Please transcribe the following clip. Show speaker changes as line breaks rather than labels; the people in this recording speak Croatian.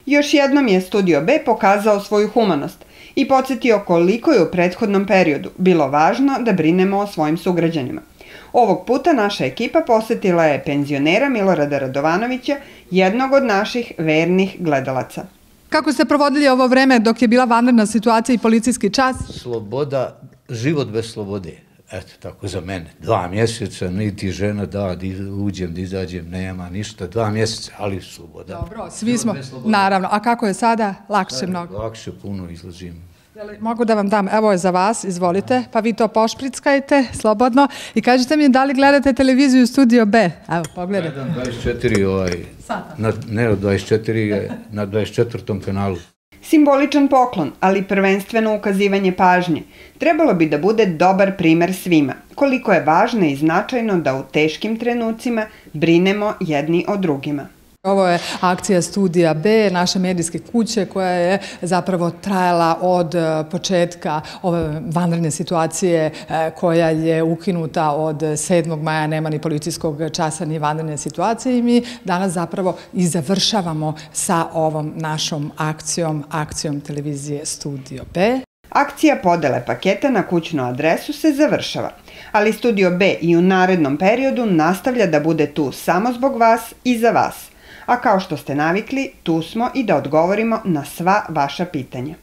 Još jednom je Studio B pokazao svoju humanost i podsjetio koliko je u prethodnom periodu bilo važno da brinemo o svojim sugrađanima. Ovog puta naša ekipa posetila je penzionera Milorada Radovanovića, jednog od naših vernih gledalaca.
Kako ste provodili ovo vreme dok je bila vanredna situacija i policijski čas?
Sloboda, život bez slobode. Eto, tako za mene. 2 mjeseca, niti žena da uđem, da izađem, nema ništa. 2 mjeseca, ali sloboda.
Dobro, svi smo, naravno. A kako je sada? Lakše mnogo.
Lakše, puno izlazim.
Mogu da vam dam, evo je za vas, izvolite, pa vi to pošprickajte slobodno i kažete mi da li gledate televiziju Studio B? Evo, pogledajte.
Gledam 24, ne od 24, na 24. kanalu.
Simboličan poklon, ali prvenstveno ukazivanje pažnje, trebalo bi da bude dobar primer svima, koliko je važno i značajno da u teškim trenucima brinemo jedni o drugima.
Ovo je akcija Studija B, naše medijske kuće koja je zapravo trajala od početka ove vanredne situacije koja je ukinuta od 7. maja, nema ni policijskog časa ni vanredne situacije i mi danas zapravo i završavamo sa ovom našom akcijom televizije Studio B.
Akcija podele paketa na kućnu adresu se završava, ali Studio B i u narednom periodu nastavlja da bude tu samo zbog vas i za vas. A kao što ste navikli, tu smo i da odgovorimo na sva vaša pitanja.